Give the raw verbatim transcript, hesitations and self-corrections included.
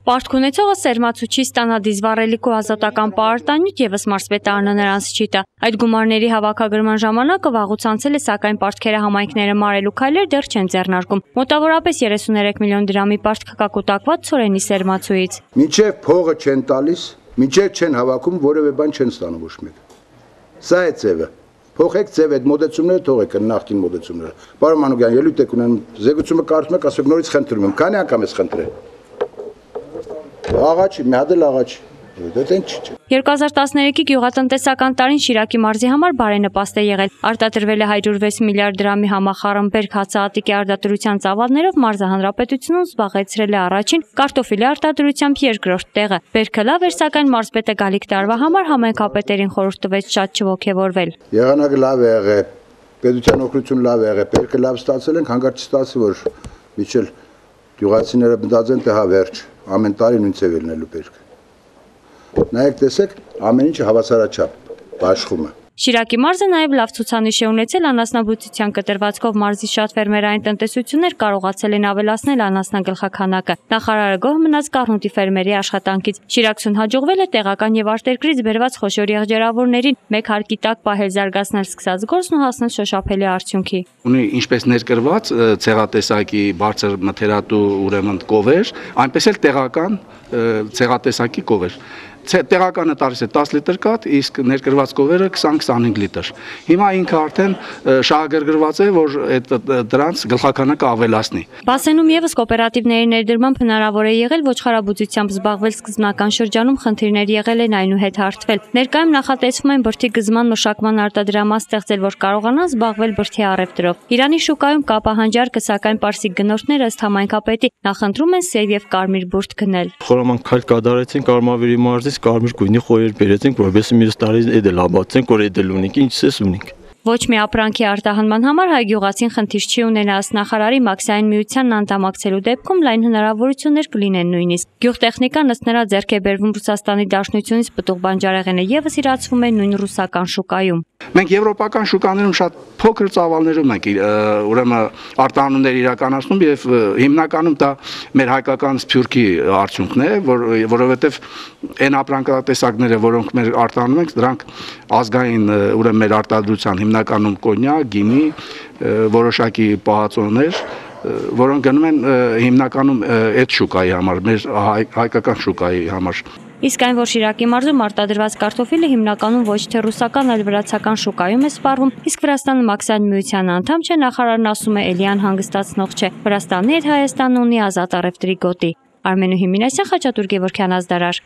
Պարտք ունեցողը սերմացուչի ստանա դիզվառելիք ու ազատական պարտանյութ եւս մարզպետարանը նրանց չի տա։ Այդ գումարների հավաքագրման ժամանակը վաղուց անցել է, սակայն պարտքերը համայնքները մարելու քայլեր դեռ չեն ձեռնարկում։ Մոտավորապես երեսուներեք միլիոն դրամի պարտք կա կուտակված Ցորենի սերմացուից։ Մինչև փողը չեն տալիս, մինչև չեն հավաքում, որևէ բան չեն ստանում ոչ մեկ։ Սա է ձևը։ Փոխեք ձև այդ մոդեցումները թողեք նախկին մոդեցումները։ Պարոն Մանուկյան, ելույթ եք ունենում, զեկուցումը կարծում եք, ասեք նորից խնդրում եմ, քանի անգամ ես խնդրել։ Աղաչի, մի հատ էլ աղաչի։ երկու հազար տասներեքի գյուղատնտեսական տարին Շիրակի մարզի համար բարենպաստ է եղել։ Արտադրվել է հարյուր վեց միլիարդ դրամի համախառն հացահատիկի արտադրության ծավալներով մարզը հանրապետությունում զբաղեցրել է առաջին, կարտոֆիլի արտադրությամբ երկրորդ տեղը։ Բերքը լավ էր, սակայն մարզպետը գալիք տարվա համար համայնքապետերին խորհուրդ տվեց շատ չոգևորվել։ Եղանակը լավ է եղել, պետության օգնություն լավ է եղել, բերքը լավ ստացել ենք, հանկարծ չստացի, որ միջել գյուղացիները մտածեն, թե հա վերջ, ամեն տարի նույն ձև լինելու բերքը։ Նայեք տեսեք, ամեն ինչը հավասարաչափ բաշխում է։ Շիրակի մարզը նաև լավ ցուցանիշ է ունեցել անասնաբուծության կտրվածքով մարզի շատ ֆերմերային տնտեսություններ կարողացել են ավելացնել անասնագլխաքանակը։ Նախարարը գոհ մնաց Կառնուտի ֆերմերի աշխատանքից։ Շիրակցուն հաջողվել է տեղական եւ արտերկրից բերված խոշոր եղջերավորներին մեկ հարկի տակ պահել զարգացնել սկսած գործն ու հասնել շոշափելի արդյունքի։ Ունի ինչպես ներկրված ցեղատեսակի բարձր մթերատու ուրեմն կովեր, այնպես էլ տեղական ցեղատեսակի կովեր։ Տեղականը տալիս է տաս լիտր կաթ, իսկ ներկրված կովերը քսան քսանհինգ լիտր։ Հիմա ինքը արդեն շահագրգռված է, որ այդ դրանց գլխականակը ավելացնի։ Բասենում եւս կոոպերատիվների ներդրմամբ հնարավոր է եղել ոչխարաբուծությամբ զբաղվել սկզբնական շրջանում խնդիրներ եղել են այնուհետ հարթվել։ Ներկայում նախատեսվում են բրդի գզման մշակման արտադրամաս ստեղծել, որ կարողանան զբաղվել բրդի առևտրով։ Իրանի շուկայում կա պահանջարկը, սակայն պարսիկ գնորդները ըստ համայնքապետի նախընտրում են սև եւ կարմիր բուրդ գնել։ Խորամանկ քայլ կատարեցին Կարմավիրի մարզից կարմիր գույնի խոյեր բերեցինք, որովհետեւ մյուս տարի էդ էլ աբացենք, որ էդ էլ ունենք, ինչ ցես ունենք։ Ոչ մի ապրանքի արտահանման համար հայ գյուղացին խնդիր չի ունենա, ըստ նախարարի Մաքսային միությանն անդամակցելու դեպքում լայն հնարավորություններ կլինեն նույնիսկ։ Գյուղտեխնիկան ըստ նրա ձեռք է բերվում Ռուսաստանի Դաշնությունից, պտուղ բանջարեղենը եւս իրացվում է նույն ռուսական շուկայում։ Մենք եվրոպական շուկաներում շատ փոքր ծավալներում ենք ուրեմն արտահանումներ իրականացնում եւ հիմնականում դա մեր հայկական սփյուռքի արդյունքն է, որ որովհետեւ այն ապրանքատեսակները, որոնք մեր արտահանում ենք, դրանք ազգային ուրեմն մեր արտադրության հիմնականում կոնյակ, գինի, որոշակի պահածոներ, որոնք գնում են հիմնականում այդ շուկայի համար, մեր հայկական շուկայի համար։ Իսկ այն, որ Շիրակի մարզում արտադրված կարտոֆիլը հիմնականում ոչ թե ռուսական, այլ վրացական շուկայում է սպառվում, իսկ Վրաստանը Մաքսային միության անդամ չէ, նախարարն ասում է, էլի անհանգստացնող չէ։ Վրաստանի հետ Հայաստանը ունի ազատ առևտրի գոտի։ Արմենու Հիմինասյան, Խաչատուր Գևորգյան, Ազդարար։